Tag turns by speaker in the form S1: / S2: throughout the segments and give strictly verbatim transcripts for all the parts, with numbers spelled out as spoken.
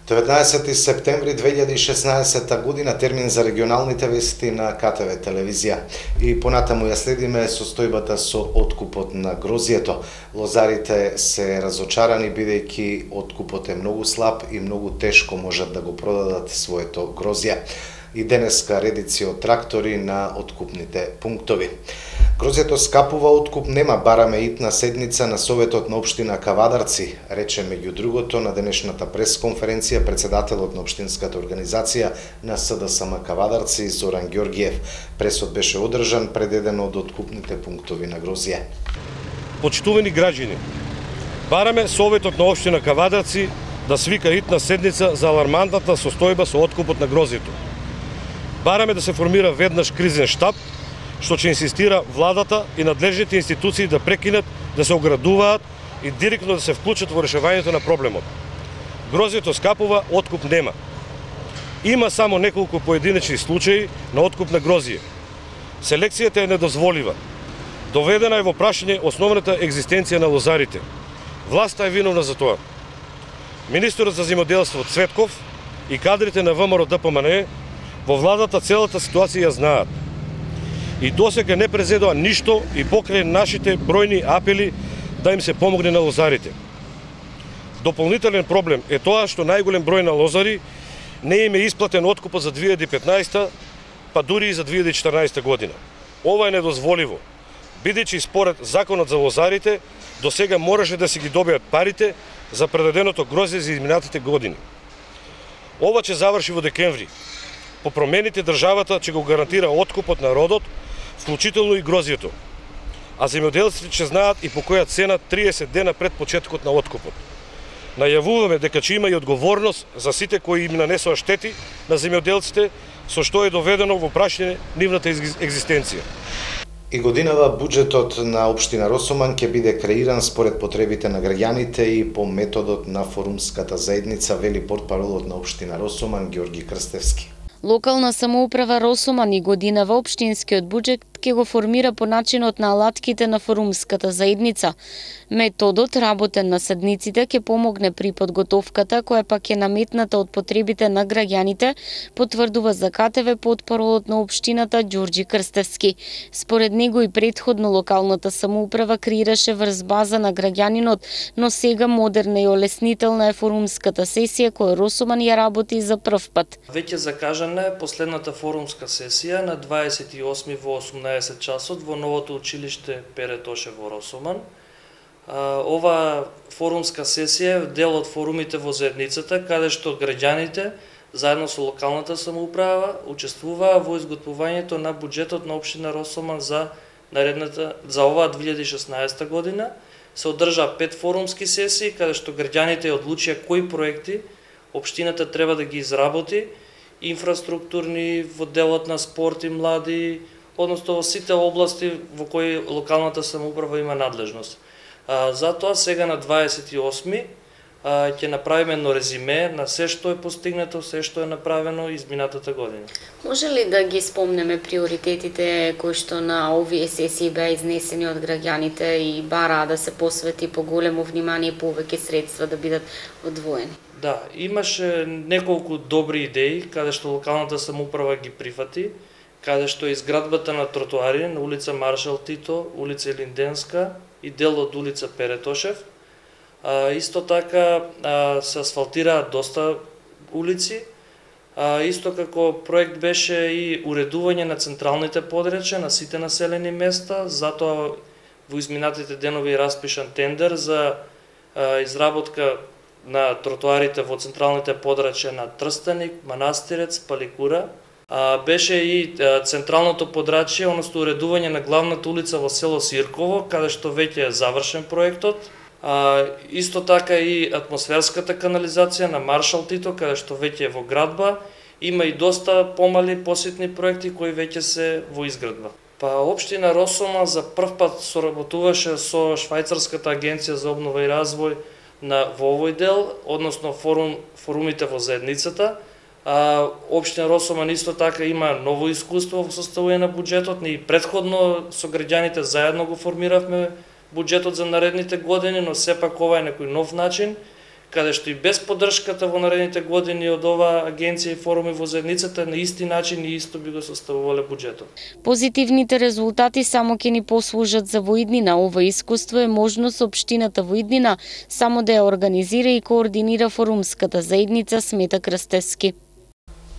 S1: деветнаесети септември две илјади и шеснаесетта година, термин за регионалните вести на К Т В телевизија. И понатаму ја следиме состојбата со откупот на грозието. Лозарите се разочарани бидејќи откупот е многу слаб и многу тешко можат да го продадат своето грозје. И денеска редици од трактори на откупните пунктови. Грозието скапува, откуп нема, бараме итна седница на Советот на општина Кавадарци, рече меѓу другото на денешната пресконференција председателот на општинската организација на С Д С М Кавадарци Зоран Ѓорѓиев. Пресот беше одржан пред еден од откупните пунктови на грозје.
S2: Почитувани граѓани, бараме Советот на општина Кавадарци да свика итна седница за алармантната состојба со откупот на грозието. Бараме да се формира веднаш кризен штаб, што ќе инсистира владата и надлежните институции да прекинат да се оградуваат и директно да се вклучат во решавањето на проблемот. Грозието скапува, откуп нема. Има само неколку поединечни случаи на откуп на грозие. Селекцијата е недозволива. Доведена е во прашање основната екзистенција на лозарите. Власта е виновна за тоа. Министерот за земјоделство Цветков и кадрите на В М Р Д П М Н во владата целата ситуација ја знаат. И досега не презедоа ништо и покрај нашите бројни апели да им се помогне на лозарите. Дополнителен проблем е тоа што најголем број на лозари не им е исплатен откупот за две илјади и петнаесетта, па дури и за две илјади и четрнаесетта година. Ова е недозволиво, бидејќи според законот за лозарите досега можеше да си ги добијат парите за предаденото грозје за изминатите години. Ова ќе заврши во декември. По промените државата ќе го гарантира откупот на родот, вклучително и грозието. А земјоделците ќе знаат и по која цена триесет дена пред почетокот на откупот. Најавуваме дека ќе има и одговорност за сите кои им нанесоа штети на земјоделците, со што е доведено во прашање нивната екзистенција.
S1: И годинава буџетот на општина Росоман ќе биде креиран според потребите на граѓаните и по методот на форумската заедница, вели портпаролот на општина Росоман Ѓорги Крстевски.
S3: Локална самоуправа Росоман и годинава општинскиот буџет ќе го формира по начинот на алатките на форумската заедница. Методот работен на седниците ќе помогне при подготовката, која пак е наметната од потребите на граѓаните, потврдува за К Т В портпаролот на општината Ѓорги Крстевски. Според него и предходно локалната самоуправа креираше врз база на граѓанинот, но сега модерна и олеснителна е форумската сесија која Росоман ја работи за прв пат.
S4: Веќе закажана е последната форумска сесија на дваесет и осми во осумнаесет часот во новото училиште Пере Тошев во Росоман. Ова форумска сесија е дел од форумите во заедницата, каде што граѓаните заедно со локалната самоуправа учествуваа во изготвувањето на буџетот на општина Росоман за наредната за оваа две илјади и шеснаесетта година. Се одржа пет форумски сесии каде што граѓаните одлучија кои проекти општината треба да ги изработи, инфраструктурни во делот на спорт и млади, односно во сите области во кои локалната самоуправа има надлежност. А, затоа сега на дваесет и осми а, ќе направиме едно резиме на се што е постигнато, се што е направено изминатата година.
S3: Може ли да ги спомнеме приоритетите кои што на овие сесии беа изнесени од граѓаните и бараа да се посвети поголемо внимание и повеќе средства да бидат одвоени?
S4: Да, имаше неколку добри идеи каде што локалната самоуправа ги прифати, каде што е изградбата на тротоари на улица Маршал Тито, улица Илинденска и дел од улица Пере Тошев. А, исто така а, се асфалтираат доста улици. А, исто како проект беше и уредување на централните подречја на сите населени места, затоа во изминатите денови е распишан тендер за а, изработка на тротоарите во централните подрачја на Трстеник, Манастирец, Паликура. А, беше и а, централното подрачје, односно уредување на главната улица во село Сирково, каде што веќе е завршен проектот. А, исто така и атмосферската канализација на Маршал Тито, каде што веќе е во градба. Има и доста помали посетни проекти кои веќе се во изградба. Па општина Росоман за прв пат соработуваше со Швајцарската агенција за обнова и развој на во овој дел, односно форум, форумите во заедницата. А, општина Росоман исто така има ново искуство во составување на буџетот. Ние претходно со граѓаните заедно го формиравме буџетот за наредните години, но сепак ова е некој нов начин, каде што и без поддршката во наредните години од оваа агенција и форуми во заедницата на исти начин и исто би го составувале буџетот.
S3: Позитивните резултати само ќе ни послужат за во иднина. Ова искуство е можност општината во иднина само да ја организира и координира форумската заедница, смета Крстевски.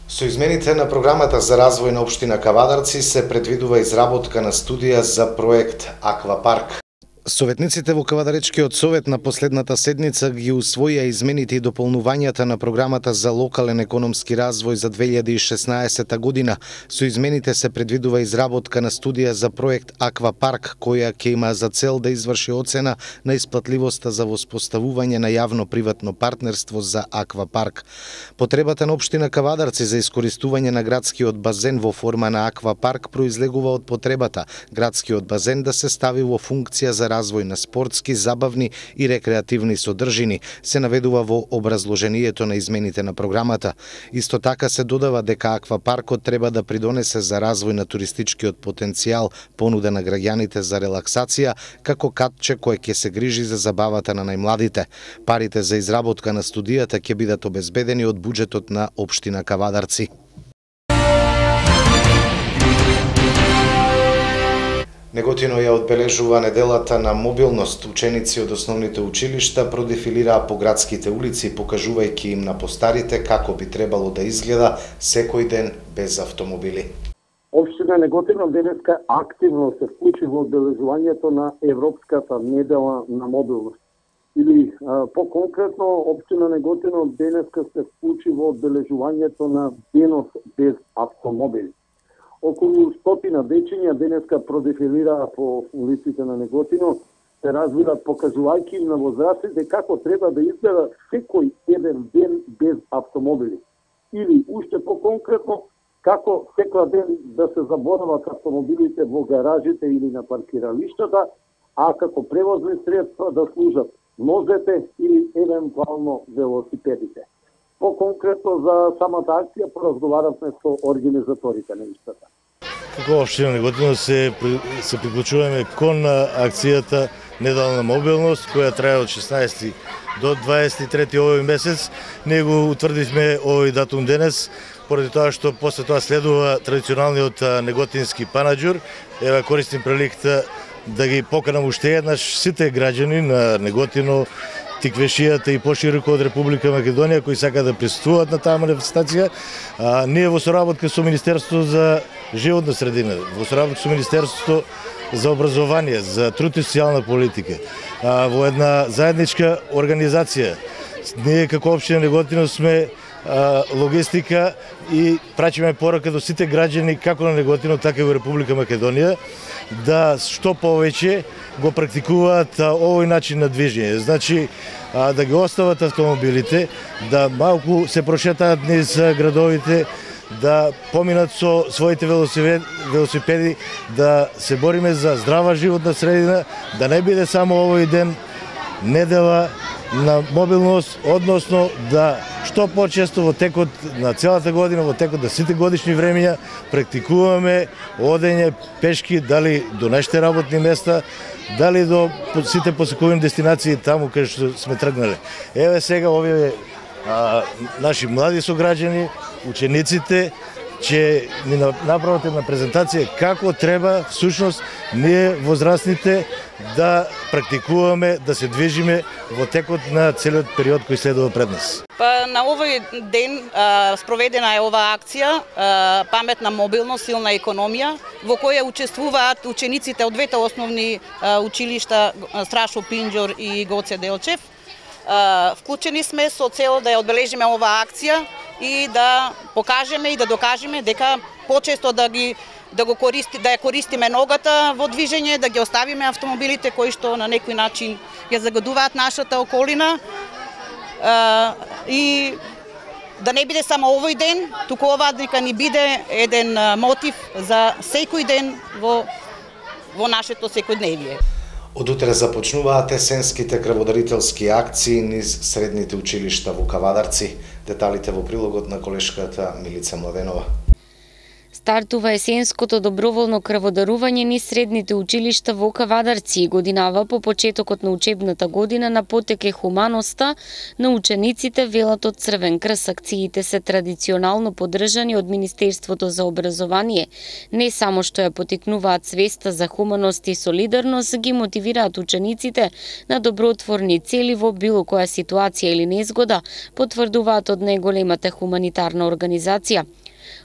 S1: Со измените на програмата за развој на општина Кавадарци се предвидува изработка на студија за проект Аквапарк. Советниците во Кавадаречкиот совет на последната седница ги усвоија измените и дополнувањата на програмата за локален економски развој за две илјади и шеснаесета година. Со измените се предвидува изработка на студија за проект Аквапарк, која ќе има за цел да изврши оцена на исплатливоста за воспоставување на јавно-приватно партнерство за Аквапарк. Потребата на општина Кавадарци за искористување на градскиот базен во форма на Аквапарк произлегува од потребата градскиот базен да се стави во функција за развој на спортски, забавни и рекреативни содржини, се наведува во образложението на измените на програмата. Исто така се додава дека Аквапаркот треба да придонесе за развој на туристичкиот потенцијал, понуда на граѓаните за релаксација, како катче кое ќе се грижи за забавата на најмладите. Парите за изработка на студијата ќе бидат обезбедени од буџетот на општина Кавадарци. Неготино ја одбележува неделата на мобилност. Ученици од основните училишта продефилираа по градските улици, покажувајќи им на постарите како би требало да изгледа секој ден без автомобили.
S5: Општина Неготино денеска активно се вклучи во одбележувањето на Европската недела на мобилност. Или по-конкретно, општина Неготино денеска се вклучи во одбележувањето на денот без автомобили. Околу стотина дечиња денеска продефилираа по улиците на Неготино, се разбират покажувајќи им на возрастите како треба да изгледа секој еден ден без автомобили. Или, уште по-конкретно, како секој ден да се заборават автомобилите во гаражите или на паркиралиштата, а како превозни средства да служат нозете или евентуално велосипедите. По-конкретно за самата акција поразговаравме со организаторите на истата.
S6: Како општина Неготино се се приклучуваме кон акцијата Недела на мобилност, која трае од шеснаесети до дваесет и трети овој месец. Ние го утврдивме овој датум денес, поради тоа што после тоа следува традиционалниот неготински панаџур. Ева користим приликата да ги поканам уште еднаш сите граѓани на Неготино, Тиквешијата и пошироко од Република Македонија кои сакаат да присуствуваат на таа манифестација. А, ние во соработка со Министерството за животна средина, во соработка со Министерството за образование, за труд и социјална политика, а, во една заедничка организација. Ние како општина Неготино сме а, логистика и прачиме порака до сите граѓани како на Неготино, така и во Република Македонија да што повеќе го практикуваат а, овој начин на движење. Значи, а, да ги остават автомобилите, да малку се прошетаат низ градовите, да поминат со своите велосипеди, да се бориме за здрава животна средина, да не биде само овој ден недела на мобилност, односно да што почесто во текот на целата година, во текот на сите годишни времења практикуваме одење пешки, дали до нашите работни места, дали до сите посекувани дестинации таму каде што сме тргнале. Еве сега овие а, наши млади сограѓани, учениците, че ни направат една презентација како треба всушност ние возрастните да практикуваме, да се движиме во текот на целиот период кој следува пред нас.
S7: Па на овој ден а, спроведена е оваа акција а, Паметна мобилност, силна економија, во која учествуваат учениците од двете основни а, училишта Страшо Пинџор и Гоце Делчев. А, вклучени сме со цел да ја одбележиме оваа акција и да покажеме и да докажеме дека почесто да ги да го користи да ја користиме ногата во движење, да ги оставиме автомобилите кои што на некој начин ја загадуваат нашата околина. А, и да не биде само овој ден, туку ова дека ни биде еден мотив за секој ден во во нашето секојдневие.
S1: Од утре започнуваат есенските крводарителски акции низ средните училишта во Кавадарци. Деталите во прилогот на колешката Милица Младенова.
S3: Стартува есенското доброволно крводарување низ средните училишта во Кавадарци и годинава по почетокот на учебната година на потеке хуманоста на учениците, велат од Црвен крст. Акциите се традиционално поддржани од Министерството за образование. Не само што ја потикнуваат свеста за хуманост и солидарност, ги мотивираат учениците на добротворни цели во било која ситуација или незгода, потврдуваат од најголемата хуманитарна организација.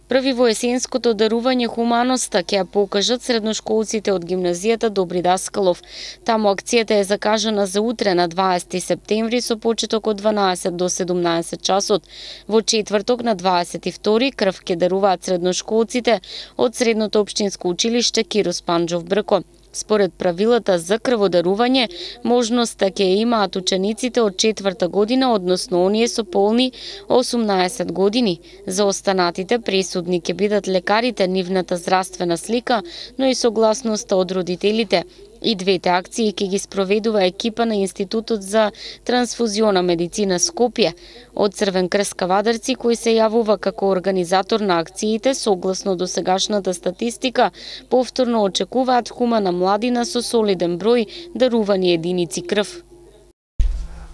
S3: Први во есенското дарување хуманоста ќе ја покажат средношколците од гимназијата Добри Даскалов. Таму акцијата е закажана за утре на дваесети септември со почеток од дванаесет до седумнаесет часот. Во четврток на дваесет и втори крв ќе даруваат средношколците од Средното општинско училиште Киро Спанџов Брко. Според правилата за крводарување, можноста ќе имаат учениците од четврта година, односно оние со полни осумнаесет години. За останатите пресудни ќе бидат лекарите, нивната здравствена слика, но и согласноста од родителите. И двете акции ќе ги спроведува екипа на Институтот за трансфузиона медицина Скопје. Од Црвен крст Кавадарци, кој се јавува како организатор на акциите, согласно досегашната статистика, повторно очекуваат хумана младина со солиден број дарувани единици крв.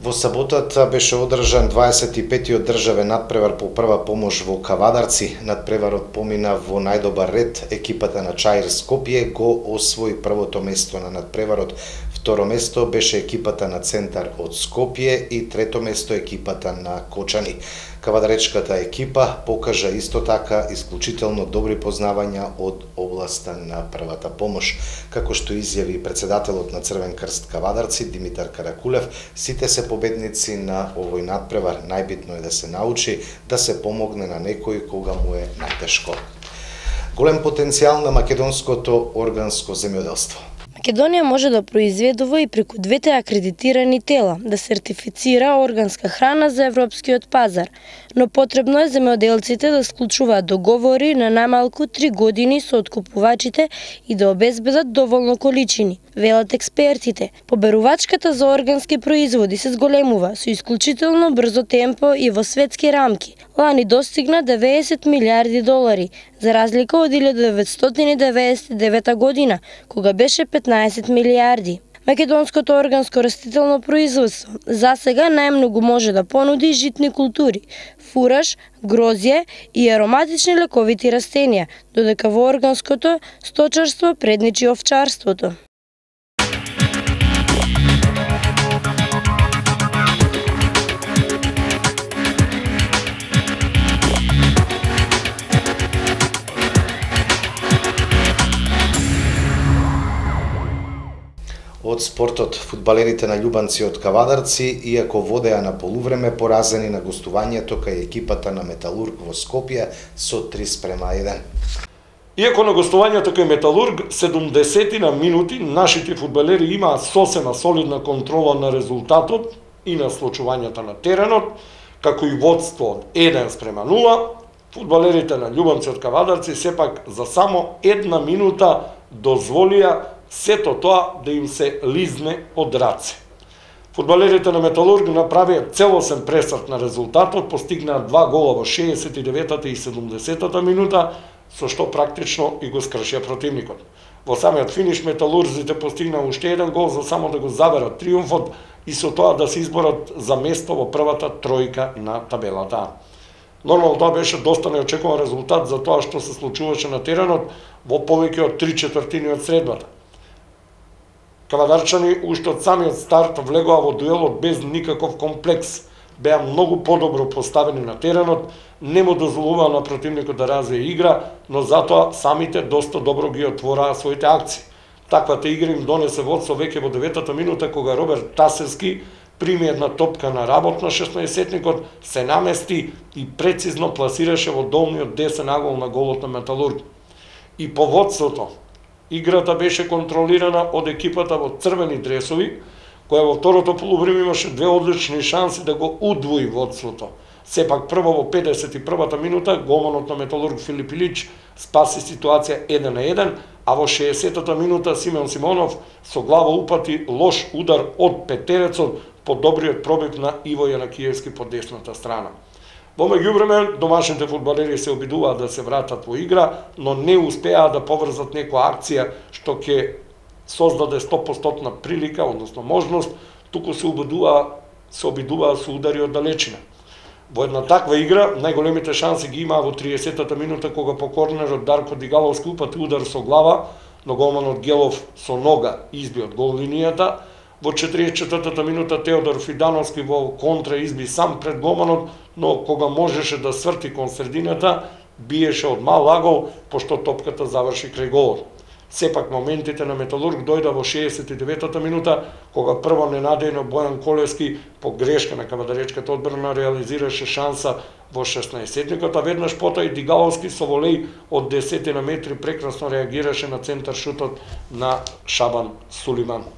S1: Во саботата беше одржан дваесет и петтиот државен надпревар по прва помош во Кавадарци. Надпреварот помина во најдобар ред. Екипата на Чаир Скопје го освои првото место на надпреварот. Второ место беше екипата на Центар од Скопје и трето место екипата на Кочани. Кавадаречката екипа покажа исто така исклучително добри познавања од областа на првата помош. Како што изјави председателот на Црвен крст Кавадарци Димитар Каракулев, сите се победници на овој надпревар. Најбитно е да се научи да се помогне на некој кога му е најтешко. Голем потенцијал на македонското органско земјоделство.
S8: Македонија може да произведува и преку двете акредитирани тела да сертифицира органска храна за европскиот пазар, но потребно е земјоделците да склучуваат договори на најмалку три години со откупувачите и да обезбедат доволно количини, велат експертите. Поберувачката за органски производи се зголемува со исклучително брзо темпо и во светски рамки. Лани достигна деветдесет милиарди долари, за разлика од илјада деветстотини деветдесет и девета година, кога беше петнаесет милиарди. Македонското органско растително производство за сега најмногу може да понуди житни култури, фураж, грозје и ароматични лековити растенија, додека во органското сточарство предничи овчарството.
S1: Од спортот, фудбалерите на љубанци од Кавадарци, иако водеа на полувреме, поразени на гостувањето кај екипата на Металург во Скопје со три спрема еден.
S9: Иако на гостувањето кај Металург седумдесетина минути, нашите фудбалери имаа сосема солидна контрола на резултатот и на случувањата на теренот, како и водство од еден спрема нула, фудбалерите на љубанци од Кавадарци сепак за само една минута дозволија сето тоа да им се лизне од раце. Фудбалерите на Металург направија целосен пресрт на резултатот, постигнаа два гола во шеесет и деветата и седумдесетата минута, со што практично и го скршија противникот. Во самиот финиш металурзите постигнаа уште еден гол за само да го заберат триумфот и со тоа да се изборат за место во првата тројка на табелата. Нормално тоа беше доста неочекуван резултат за тоа што се случуваше на теренот во повеќе од три четвртини од средбата. Кавадарчани уште од самиот старт влегоа во дуелот без никаков комплекс, беа многу подобро поставени на теренот, не му дозволуваа на противникот да развие игра, но затоа самите доста добро ги отвораа своите акции. Таквата игра им донесе водство веќе во деветата минута, кога Роберт Тасевски прими една топка на работ на шеснаесетникот, се намести и прецизно пласираше во долниот десен агол на голот на Металург. И по водството, играта беше контролирана од екипата во црвени дресови, која во второто полувреме имаше две одлични шанси да го удвои водството. Сепак прво во педесет и првата минута голманот на Металург Филип Илич спаси ситуација еден на еден, а во шеесетата минута Симеон Симонов со глава упати лош удар од петерецот по добриот пробив на Иво Јанакиевски по десната страна. Во меѓувреме, домашните фудбалери се обидуваат да се вратат во игра, но не успеаат да поврзат некоја акција што ќе создаде сто проценти прилика, односно можност, туку се обидува, се обидува со удари од далечина. Во една таква игра, најголемите шанси ги имаа во триесеттата минута, кога по корнерот Дарко Дигаловски упати удар со глава, но голманот Гелов со нога изби од гол линијата. Во четиридесет и четвртата минута Теодор Фидановски во контра изби сам пред голманот, но кога можеше да сврти кон средината, биеше од мал агол, пошто топката заврши крај голот. Сепак моментите на Металург дојда во шеесет и деветата минута, кога прво ненадејно Бојан Колевски по грешка на кавадаречката одбрана реализираше шанса во шеснаесетникот, а веднаш пота и Дигаловски со волеј од десетина метри прекрасно реагираше на центар шутот на Шабан Сулиман.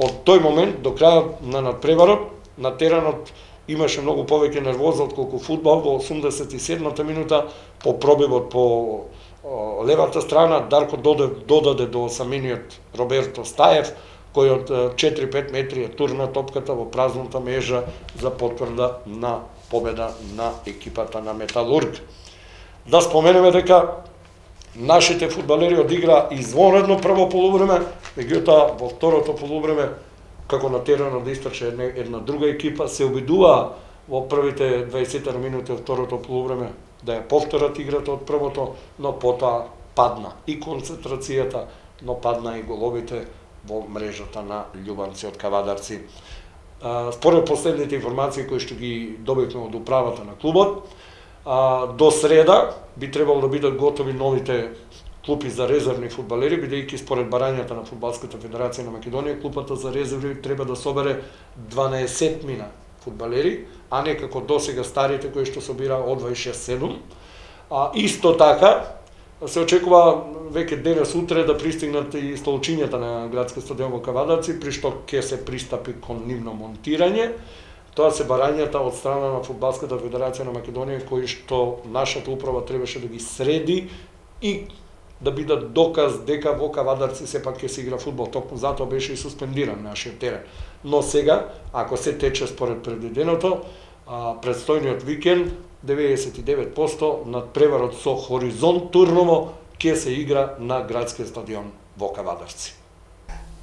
S9: Од тој момент до крајот на надпреварот на теренот имаше многу повеќе нервоза отколку фудбал. Во осумдесет и седмата минута по пробивот по левата страна Дарко додаде до саминиот Роберто Стаев, кој од четири-пет метри турна топката во празната мрежа за потврда на победа на екипата на Металург. Да споменеме дека нашите фудбалери одигра извонредно прво полувреме, меѓутоа во второто полувреме, како на теренот да истрче една, една друга екипа, се обидуваа во првите дваесет минути од второто полувреме да ја повторат играта од првото, но потоа падна и концентрацијата, но падна и головите во мрежата на љубанци од Кавадарци. Според последните информации кои што ги добивме од управата на клубот, до среда би требало да бидат готови новите клупи за резервни фудбалери, бидејќи според барањата на Фудбалската федерација на Македонија, клупата за резерви треба да собере дванаесет мина фудбалери, а не како досега старите кои што собира од дваесет и шест седум. А исто така се очекува веќе денес утре да пристигнат и столчињата на градски стадион во Кавадарци, при што ќе се пристапи кон нивно монтирање. Тоа се барањата од страна на Фудбалската федерација на Македонија кои што нашата управа требаше да ги среди и да бидат доказ дека во Кавадарци сепак ќе се игра фудбал. Токму затоа беше и суспендиран нашиот терен. Но сега, ако се тече според предвиденото, предстојниот викенд деветдесет и девет проценти надпреварот со Хоризонт Турново ќе се игра на градскиот стадион во Кавадарци.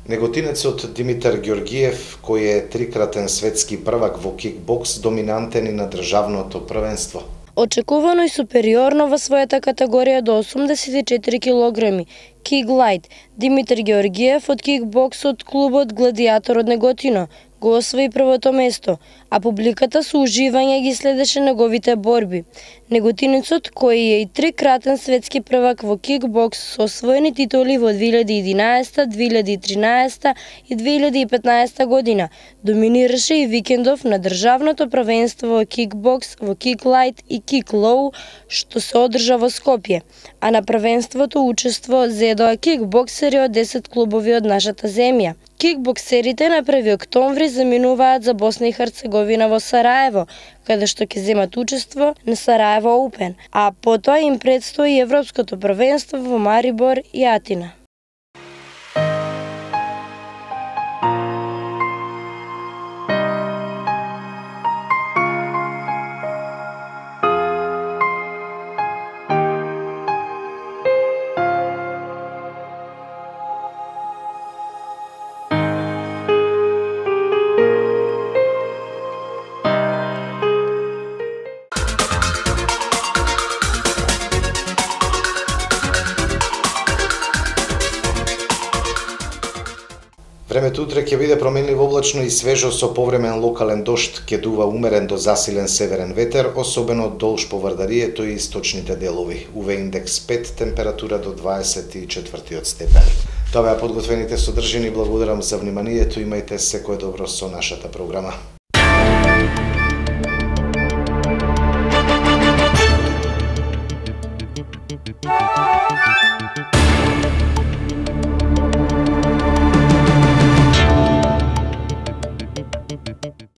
S1: Неготинецот Димитар Ѓоргиев, кој е трикратен светски првак во кикбокс, доминантен и на државното првенство.
S8: Очекувано и супериорно во својата категорија до осумдесет и четири килограми. Кик Лайт, Димитар Ѓоргиев од кикбоксот клубот Гладиатор од Неготино го освои првото место, а публиката со уживање ги следеше неговите борби. Неготинецот, кој е и трикратен светски првак во кикбокс со освоени титули во две илјади и единаесета, две илјади и тринаесета и две илјади и петнаесета година, доминираше и викендов на државното првенство во кикбокс, во кик лайт и кик лоу, што се одржа во Скопје, а на првенството учество зедоа кикбоксери од десет клубови од нашата земја. Кикбоксерите на први октомври заминуваат за Босна и Херцеговина во Сараево, каде што ќе земат учество на Сараево Open, а потоа им предстои Европското првенство во Марибор и Атина.
S1: Времето утре ќе биде променливо облачно и свежо со повремен локален дожд, ќе дува умерен до засилен северен ветер, особено долж по Вардарието и источните делови. У В индекс пет, температура до дваесет и четвртиот степен. Тоа беа подготвените содржини, благодарам за вниманието, имајте секое добро со нашата програма.